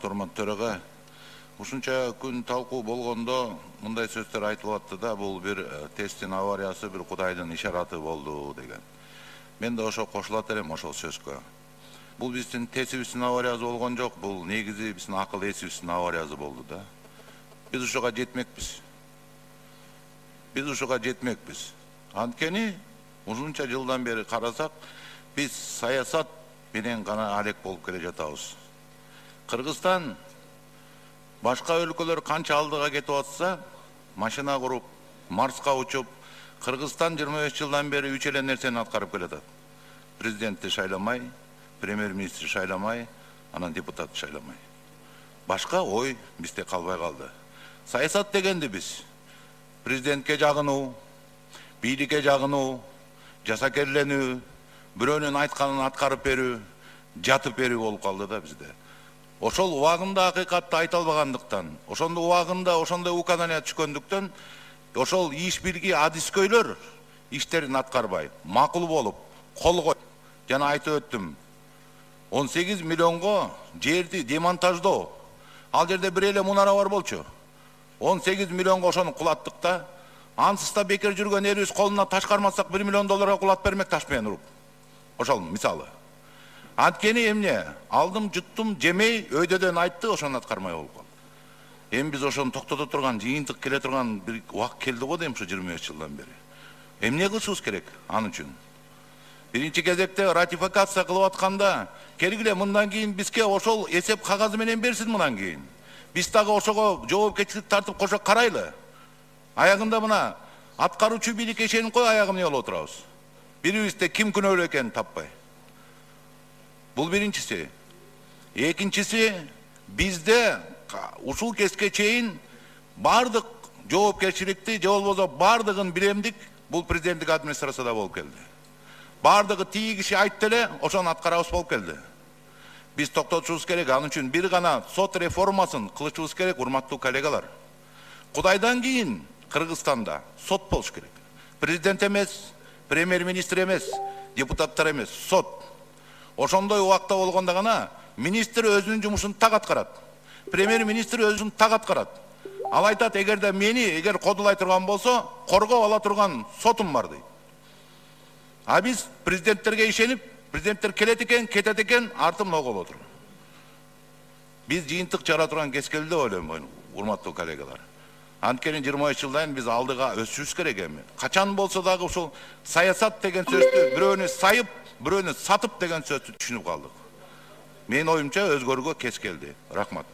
урматтуу төрага. Ушунча күн талкуу болгондо мындай сөздөр айтылып атты да, бул бир тесттин авариясы, бир Кудайдын ишараты болду деген. Мен да ошо кошулат элем ошол сөзгө. Бул биздин тестибиздин авариясы болгон жок, бул негизи биздин акыл эсибиздин авариясы болду да. Биз ушуга жетмекпиз. Анткени ушунча жылдан бери карасак, биз саясат менен гана алек болуп келе жатабыз. Кыргызстан башка өлкөлөр канча алдыга кетип атса, машина куруп, Марска учуп, Кыргызстан 25 жылдан бери 3 эле нерсени аткарып келатат. Президентти шайламай, премьер-министр шайламай, анан депутат шайламай. Башка ой бизде калбай калды. Саясат дегенди биз президентке жагынуу, бийликке жагынуу, жасакерленүү, бирөөнүн айтканын аткарып берүү, жатып берүү болуп калды да бизде. Ошол убагында акыйкатты айта албагандыктан, ошондо убагында ошондой указания түшкөндүктөн, ошол иш билги адискөйлөр иштерин аткарбай, макул болуп, колгой. Жана айтып өттүм, 18 миллионго жерди демонтаждоо. Ал жерде бир эле мунара бар болчу. 18 миллионго ошону кулаттык да. Ансыз да бекер жүргөн элибиз колуна таш кармасак 1 миллион долларга кулат бермек таш менен уруп. Ошол мисалы. Анткени эмне? Алдым, жуттум, жемей, өйдөдөн айтты, ошону аткармай болуп калды. Эми биз ошону токтото турган, жыйынтык келе турган бир убакыт келди го дейм ушу 25 жылдан бери. Эмне кылышыбыз керек аны үчүн? Биринчи кезекте ратификация кылып атканда, келгиле мындан кийин бизге ошол эсеп кагазы менен берсин мындан кийин. Биз дагы ошого жоопкерчилик тартып кошо карайлы. Аягында мына аткаруучу бийликке ишенип кой, аягы эмне болуп отурабыз. Бирибизде ким күнөөлүү экенин таппай. Бул биринчиси. Экинчиси, бизде ушул кезге чейин бардык жоопкерчиликти, же болбосо бардыгын билемдик, бул президенттик администрацияда болуп келди. Бардыгы тиги киши айтты эле, ошону аткарабыз болуп келди. Биз токтотушубуз керек, анын үчүн бир гана сот реформасын кылышыбыз керек, урматтуу коллегалар. Кудайдан кийин Кыргызстанда сот болуш керек. Президент эмес, премьер-министр эмес, депутаттар эмес, сот. Ошондой убакта болгондо гана министр өзүнүн жумушун так аткарат. Премьер-министр өзүн так аткарат. Ал айтат, эгер кодулай турган болсо, коргоп ала турган сотум бар дейт. А биз президенттерге ишенип, президенттер келет экен, кетет экен, артым ногу болуп отур. Биз жыйынтык чыгара турган кез келди деп ойлойм, урматтуу коллегалар. Анткени 25 жылдан биз алдыга өсүшүбүз керек эми. Качан болсо дагы ушул саясат деген сөздү бирөөнү сайып, бирөөнү сатып деген сөздү түшүнүп калдык. Менин оюмча өзгөрүүгө кез келди. Рахмат.